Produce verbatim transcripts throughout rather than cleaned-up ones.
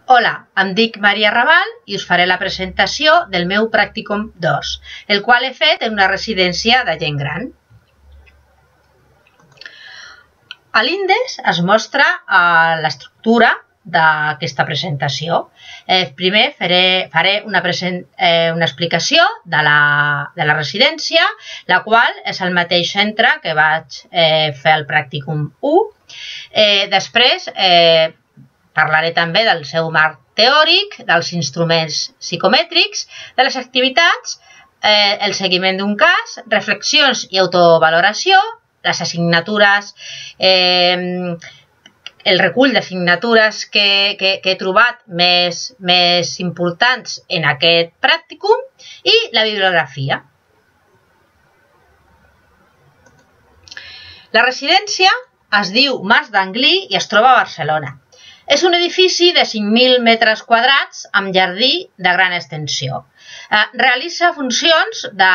Hola, em dic Maria Raval i us faré la presentació del meu Pràcticum dos, el qual he fet en una residència de gent gran. A l'índex es mostra eh, l'estructura d'aquesta presentació. Eh, primer faré, faré una, present, eh, una explicació de la, de la residència, la qual és el mateix centre que vaig eh, fer el Pràcticum u. Eh, després eh, parlaré també del seu marc teòric, dels instruments psicomètrics, de les activitats, eh, el seguiment d'un cas, reflexions i autovaloració, les assignatures, eh, el recull d'assignatures que, que, que he trobat més, més importants en aquest pràcticum i la bibliografia. La residència es diu Mas d'Anglí i es troba a Barcelona. És un edifici de cinc mil metres quadrats amb jardí de gran extensió. Eh, realitza funcions de,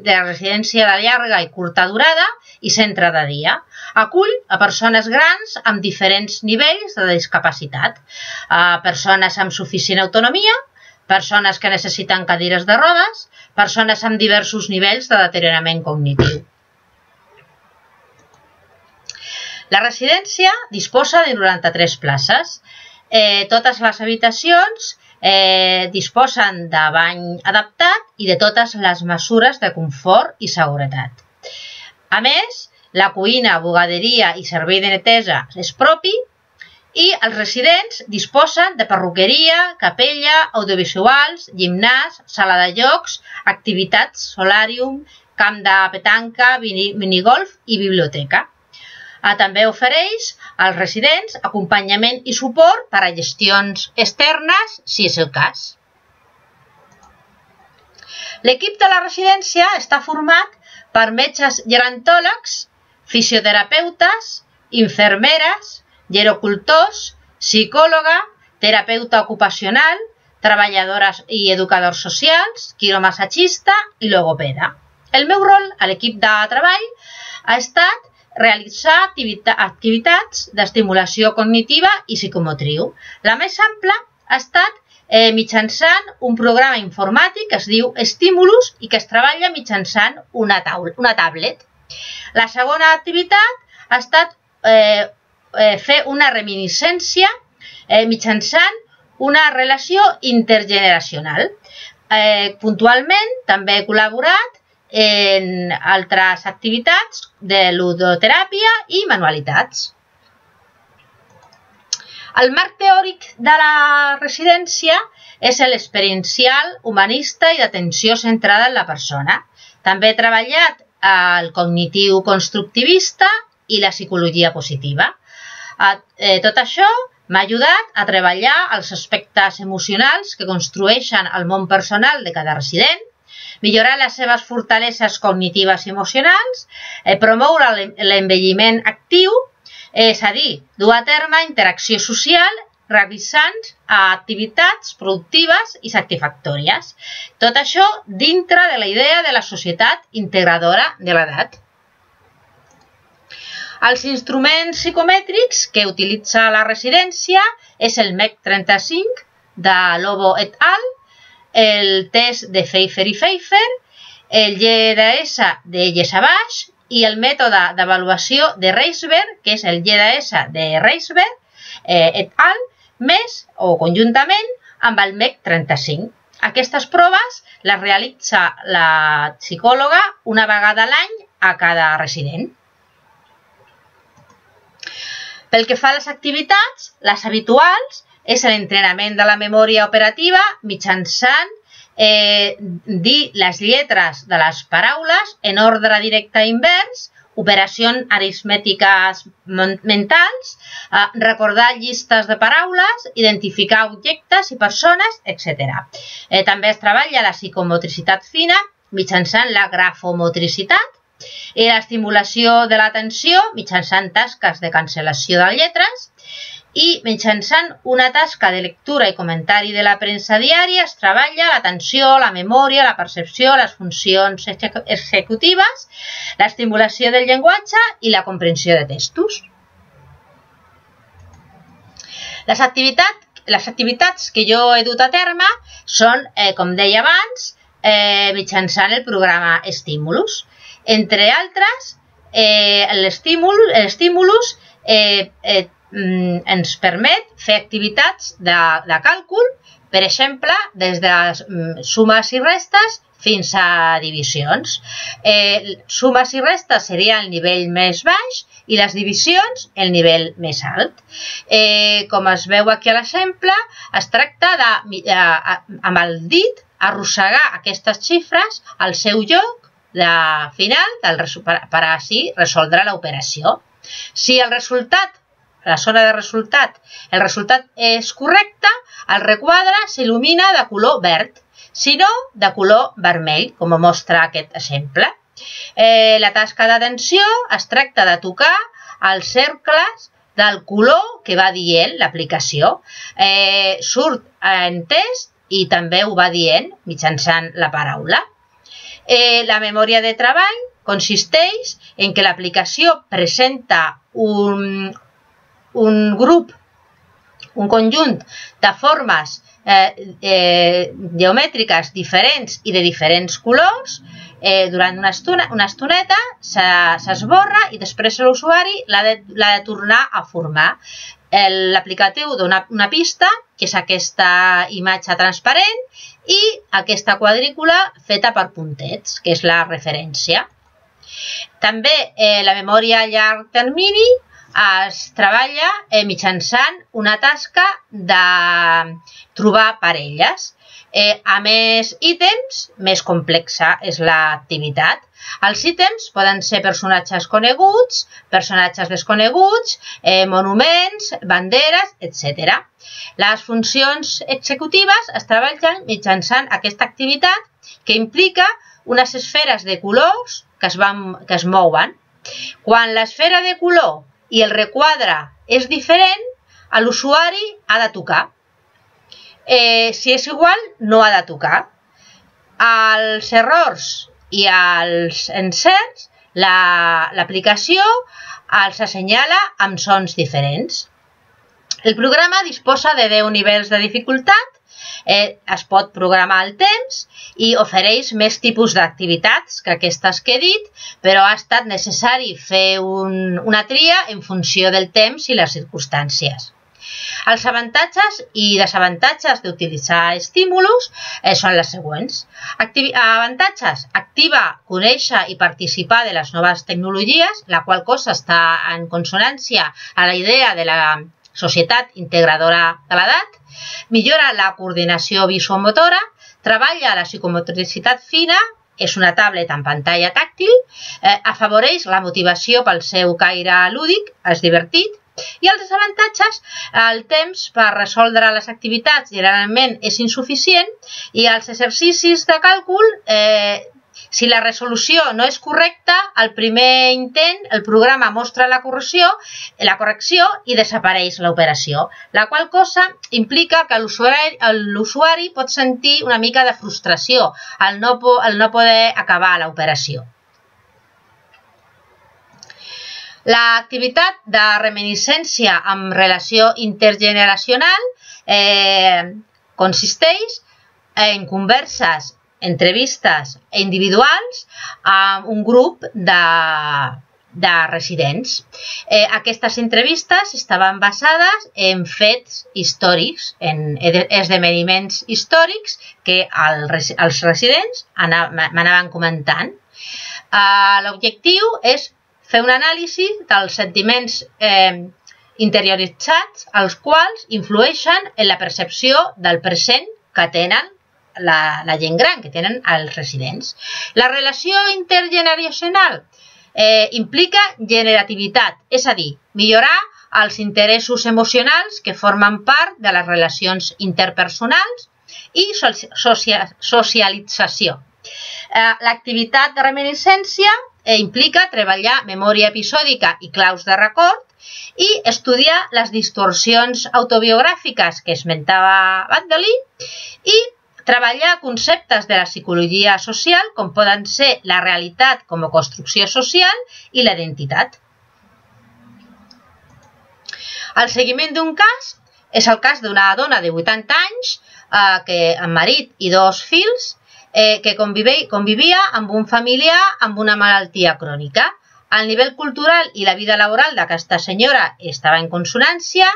de residència de llarga i curta durada i centre de dia. Acull a persones grans amb diferents nivells de discapacitat, eh, persones amb suficient autonomia, persones que necessiten cadires de rodes, persones amb diversos nivells de deteriorament cognitiu. La residència disposa de noranta-tres places. Eh, totes les habitacions eh, disposen de bany adaptat i de totes les mesures de confort i seguretat. A més, la cuina, bugaderia i servei de neteja és propi i els residents disposen de perruqueria, capella, audiovisuals, gimnàs, sala de jocs, activitats, solàrium, camp de petanca, minigolf i biblioteca. També ofereix als residents acompanyament i suport per a gestions externes, si és el cas. L'equip de la residència està format per metges gerontòlegs, fisioterapeutes, infermeres, gerocultors, psicòloga, terapeuta ocupacional, treballadores i educadors socials, quiromassatgista i logopeda. El meu rol a l'equip de treball ha estat realitzar activitats d'estimulació cognitiva i psicomotriu. La més ampla ha estat eh, mitjançant un programa informàtic que es diu Stimulus i que es treballa mitjançant una, una tablet. La segona activitat ha estat eh, eh, fer una reminiscència eh, mitjançant una relació intergeneracional. Eh, puntualment també he col·laborat en altres activitats de ludoteràpia i manualitats. El marc teòric de la residència és l'experiencial, humanista i d'atenció centrada en la persona. També he treballat el cognitiu constructivista i la psicologia positiva. Tot això m'ha ajudat a treballar els aspectes emocionals que construeixen el món personal de cada resident, millorar les seves fortaleses cognitives i emocionals, eh, promoure l'envelliment actiu, és a dir, dur a terme interacció social realitzant activitats productives i satisfactòries. Tot això dintre de la idea de la societat integradora de l'edat. Els instruments psicomètrics que utilitza la residència és el M E C trenta-cinc de Lobo et al., el test de Pfeiffer i Pfeiffer, el G D S de Yesabash i el mètode d'avaluació de Reisberg, que és el G D S de Reisberg eh, et al., més o conjuntament amb el M E C trenta-cinc. Aquestes proves les realitza la psicòloga una vegada a l'any a cada resident. Pel que fa a les activitats, les habituals és l'entrenament de la memòria operativa mitjançant eh, dir les lletres de les paraules en ordre directe invers, operacions aritmètiques mentals, eh, recordar llistes de paraules, identificar objectes i persones, etcètera. Eh, també es treballa la psicomotricitat fina mitjançant la grafomotricitat i l'estimulació de l'atenció mitjançant tasques de cancel·lació de lletres, i mitjançant una tasca de lectura i comentari de la premsa diària es treballa l'atenció, la memòria, la percepció, les funcions executives, l'estimulació del llenguatge i la comprensió de textos. Les activitats les activitats que jo he dut a terme són, eh, com deia abans, eh, mitjançant el programa Estímulus. Entre altres, eh, l'estímulus eh, eh, ens permet fer activitats de, de càlcul, per exemple, des de sumes i restes fins a divisions. Eh, sumes i restes seria el nivell més baix i les divisions el nivell més alt. Eh, com es veu aquí a l'exemple, es tracta de, eh, amb el dit, arrossegar aquestes xifres al seu lloc de final del, per, per així resoldre l'operació. Si el resultat, la zona de resultat, el resultat és correcte, el requadre s'il·lumina de color verd, si no, de color vermell, com mostra aquest exemple. Eh, la tasca d'atenció es tracta de tocar els cercles del color que va dient l'aplicació. Eh, surt en test i també ho va dient mitjançant la paraula. Eh, la memòria de treball consisteix en que l'aplicació presenta un, un grup, un conjunt de formes eh, eh, geomètriques diferents i de diferents colors. Eh, durant una, estona, una estoneta s'esborra i després l'usuari l'ha de, de tornar a formar. L'aplicatiu dona una pista, que és aquesta imatge transparent, i aquesta quadrícula feta per puntets, que és la referència. També eh, la memòria a llarg termini es treballa eh, mitjançant una tasca de trobar parelles. Eh, a més ítems, més complexa és l'activitat. Els ítems poden ser personatges coneguts, personatges desconeguts, eh, monuments, banderes, etcètera. Les funcions executives es treballen mitjançant aquesta activitat que implica unes esferes de colors que es, van, que es mouen. Quan l'esfera de color i el requadre és diferent, l'usuari ha de tocar. Eh, si és igual, no ha de tocar. Els errors i els encerts, l'aplicació els assenyala amb sons diferents. El programa disposa de deu nivells de dificultat, eh, es pot programar el temps i ofereix més tipus d'activitats que aquestes que he dit, però ha estat necessari fer un, una tria en funció del temps i les circumstàncies. Els avantatges i desavantatges d'utilitzar estímulos eh, són les següents. Activi avantatges: activa, conèixer i participar de les noves tecnologies, la qual cosa està en consonància a la idea de la societat integradora de l'edat. Millora la coordinació visomotora, treballa la psicomotricitat fina, és una tablet amb pantalla tàctil, eh, afavoreix la motivació pel seu caire lúdic, és divertit. I els desavantatges, el temps per resoldre les activitats generalment és insuficient i els exercicis de càlcul, eh, si la resolució no és correcta, al primer intent el programa mostra la correcció, la correcció i desapareix l'operació, la qual cosa implica que l'usuari pot sentir una mica de frustració al no, al no poder acabar l'operació. L'activitat de reminiscència amb relació intergeneracional eh, consisteix en converses, entrevistes individuals amb un grup de, de residents. Eh, aquestes entrevistes estaven basades en fets històrics, en esdeveniments històrics que el, els residents m'anaven comentant. Eh, L'objectiu és fer un anàlisi dels sentiments eh, interioritzats, els quals influeixen en la percepció del present que tenen la, la gent gran, que tenen els residents. La relació intergeneracional eh, implica generativitat, és a dir, millorar els interessos emocionals que formen part de les relacions interpersonals i socia socialització. Eh, L'activitat de reminiscència Eh, implica treballar memòria episòdica i claus de record i estudiar les distorsions autobiogràfiques que esmentava Baddeley i treballar conceptes de la psicologia social com poden ser la realitat com a construcció social i la identitat. El seguiment d'un cas És el cas d'una dona de vuitanta anys, eh, que, amb marit i dos fills, eh, que convivia, convivia amb un familiar amb una malaltia crònica. El nivell cultural i la vida laboral d'aquesta senyora estava en consonància,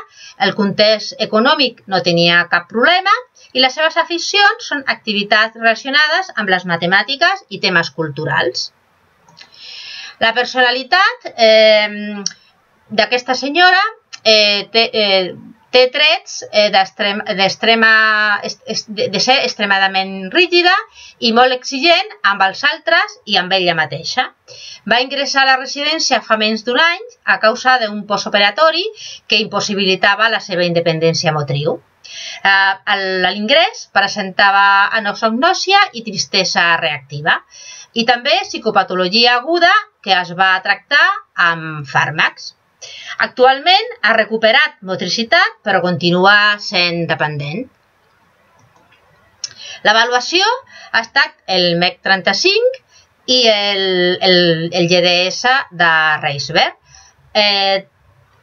el context econòmic no tenia cap problema i les seves aficions són activitats relacionades amb les matemàtiques i temes culturals. La personalitat eh, d'aquesta senyora eh, té, eh, té trets eh, d'extrema, de ser extremadament rígida i molt exigent amb els altres i amb ella mateixa. Va ingressar a la residència fa menys d'un any a causa d'un postoperatori que impossibilitava la seva independència motriu. A l'ingrés presentava anosognòsia i tristesa reactiva i també psicopatologia aguda que es va tractar amb fàrmacs. Actualment ha recuperat motricitat, però continua sent dependent. L'avaluació ha estat el M E C trenta-cinc i el, el, el G D S de Reisberg. Eh,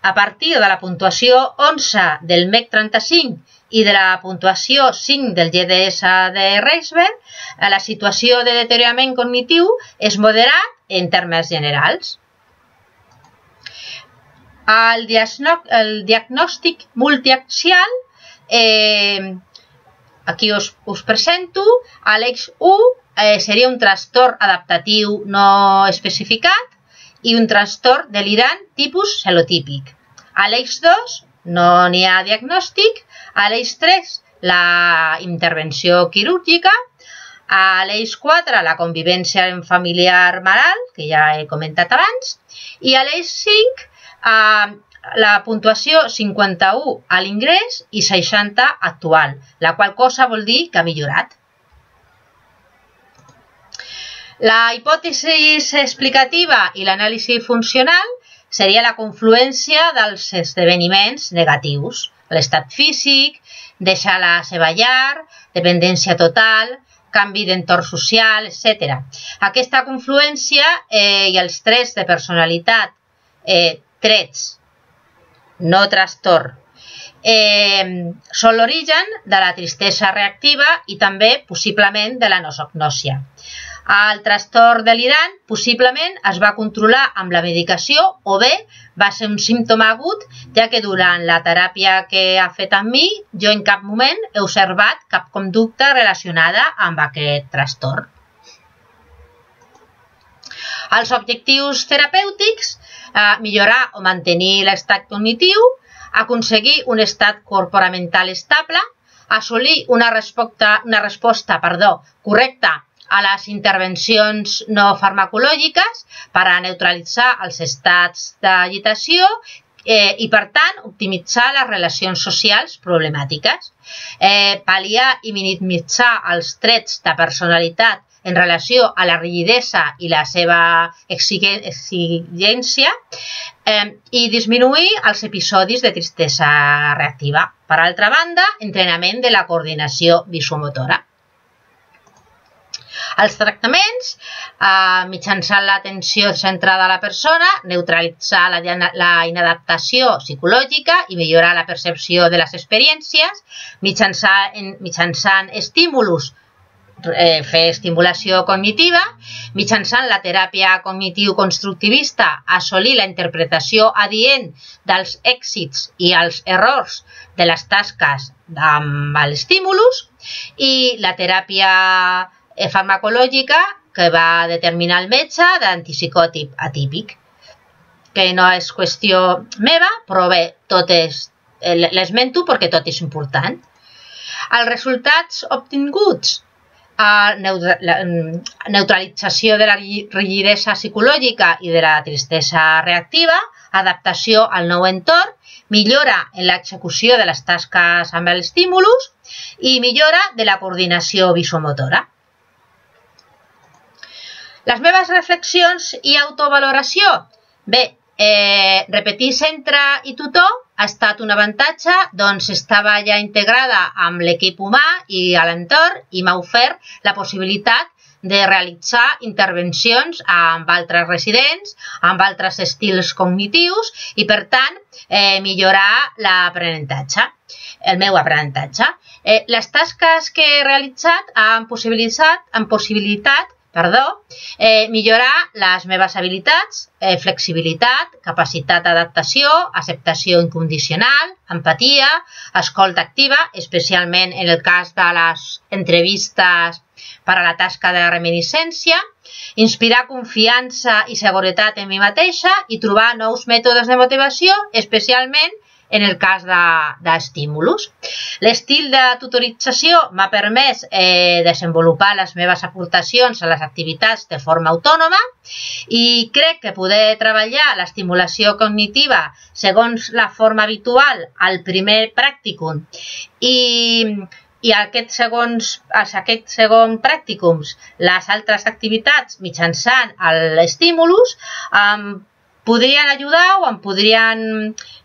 a partir de la puntuació onze del M E C trenta-cinc i de la puntuació cinc del G D S de Reisberg, la situació de deteriorament cognitiu és moderat en termes generals. El, el diagnòstic multiaxial, eh, aquí us, us presento, l'X u eh, seria un trastorn adaptatiu no especificat i un trastorn delirant tipus celotípic. A l'X dos no n'hi ha diagnòstic, a l'X tres la intervenció quirúrgica, a l'X quatre la convivència familiar malalt, que ja he comentat abans, i a l'X cinc Uh, la puntuació cinquanta-u a l'ingrés i seixanta actual, la qual cosa vol dir que ha millorat. La hipòtesi explicativa i l'anàlisi funcional seria la confluència dels esdeveniments negatius, l'estat físic, deixar la seva llar, dependència total, canvi d'entorn social, etcètera. Aquesta confluència eh, i els trets de personalitat eh, trets, no trastorn, eh, són l'origen de la tristesa reactiva i també possiblement de la nosognòsia. El trastorn delirant possiblement es va controlar amb la medicació o bé va ser un símptoma agut, ja que durant la teràpia que ha fet amb mi jo en cap moment he observat cap conducta relacionada amb aquest trastorn. Els objectius terapèutics, eh, millorar o mantenir l'estat cognitiu, aconseguir un estat corporamental estable, assolir una resposta, una resposta perdó, correcta a les intervencions no farmacològiques per a neutralitzar els estats d'agitació eh, i, per tant, optimitzar les relacions socials problemàtiques, eh, pal·liar i minimitzar els trets de personalitat en relació a la rigidesa i la seva exigència eh, i disminuir els episodis de tristesa reactiva. Per altra banda, entrenament de la coordinació visomotora. Els tractaments, eh, mitjançant l'atenció centrada a la persona, neutralitzar la, la inadaptació psicològica i millorar la percepció de les experiències, mitjançant, mitjançant estímulos, eh, fer estimulació cognitiva, mitjançant la teràpia cognitiu-constructivista, assolir la interpretació adient dels èxits i els errors de les tasques amb l'estímulus i la teràpia farmacològica que va determinar el metge d'antipsicòtic atípic, que no és qüestió meva, però bé, tot és, l'esmento perquè tot és important. Els resultats obtinguts, la neutralització de la rigidesa psicològica i de la tristesa reactiva, adaptació al nou entorn, millora en l'execució de les tasques amb els estímulos i millora de la coordinació visomotora. Les meves reflexions i autovaloració. Bé, eh, repetir centre i tutor ha estat un avantatge, doncs estava ja integrada amb l'equip humà i a l'entorn i m'ha ofert la possibilitat de realitzar intervencions amb altres residents, amb altres estils cognitius i, per tant, eh, millorar l'aprenentatge. el meu aprenentatge. Eh, les tasques que he realitzat han possibilitat, han possibilitat perdó, eh, millorar les meves habilitats, eh, flexibilitat, capacitat d'adaptació, acceptació incondicional, empatia, escolta activa, especialment en el cas de les entrevistes per a la tasca de reminiscència, inspirar confiança i seguretat en mi mateixa i trobar nous mètodes de motivació, especialment en el cas d'estímulos. L'estil de tutorització m'ha permès eh, desenvolupar les meves aportacions a les activitats de forma autònoma i crec que poder treballar l'estimulació cognitiva segons la forma habitual al primer pràcticum i, i aquest segons, aquest segon pràcticums les altres activitats mitjançant l'estímulus eh, podrien ajudar o em podrien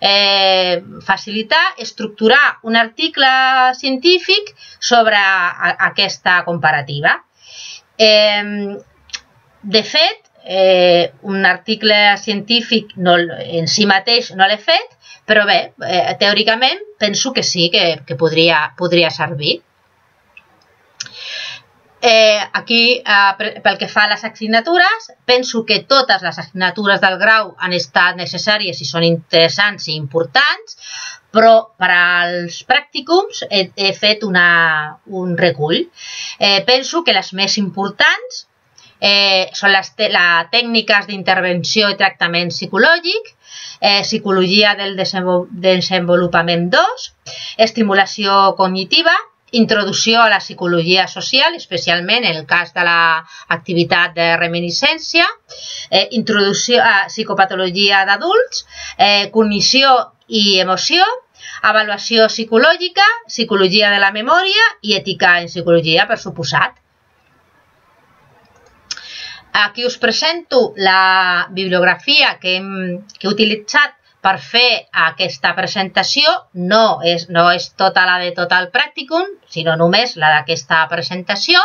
eh, facilitar estructurar un article científic sobre a, aquesta comparativa. Eh, de fet, eh, un article científic no, en si mateix no l'he fet, però bé, eh, teòricament penso que sí, que, que podria, podria servir. Eh, aquí, eh, pel que fa a les assignatures, penso que totes les assignatures del grau han estat necessàries i són interessants i importants, però per als pràcticums he, he fet una, un recull. Eh, penso que les més importants eh, són les la tècniques d'intervenció i tractament psicològic, eh, psicologia del desenvolupament dos, estimulació cognitiva, introducció a la psicologia social, especialment en el cas de l'activitat de reminiscència, eh, introducció a psicopatologia d'adults, eh, cognició i emoció, avaluació psicològica, psicologia de la memòria i ètica en psicologia, per suposat. Aquí us presento la bibliografia que, hem, que he utilitzat per fer aquesta presentació. No és, no és tota la de tot el pràcticum, sinó només la d'aquesta presentació,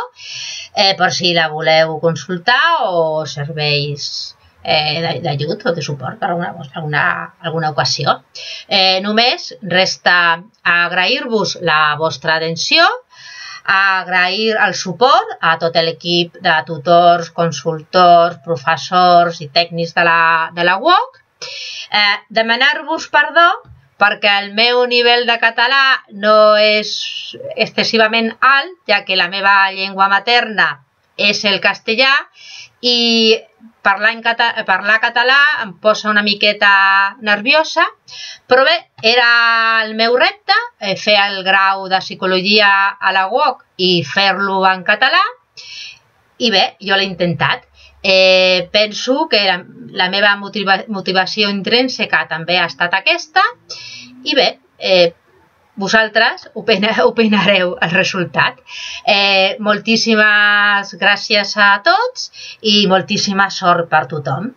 eh, per si la voleu consultar o serveis eh, d'ajut o de suport per alguna, alguna, alguna ocasió. Eh, només resta agrair-vos la vostra atenció, agrair el suport a tot l'equip de tutors, consultors, professors i tècnics de la, de la U O C. Eh, demanar-vos perdó perquè el meu nivell de català no és excessivament alt, ja que la meva llengua materna és el castellà i parlar, en català, parlar català em posa una miqueta nerviosa, però bé, era el meu repte, eh, fer el grau de psicologia a la U O C i fer-lo en català, i bé, jo l'he intentat. Eh, penso que la, la meva motiva, motivació intrínseca també ha estat aquesta i bé, eh, vosaltres opina, opinareu el resultat. Eh, moltíssimes gràcies a tots i moltíssima sort per tothom.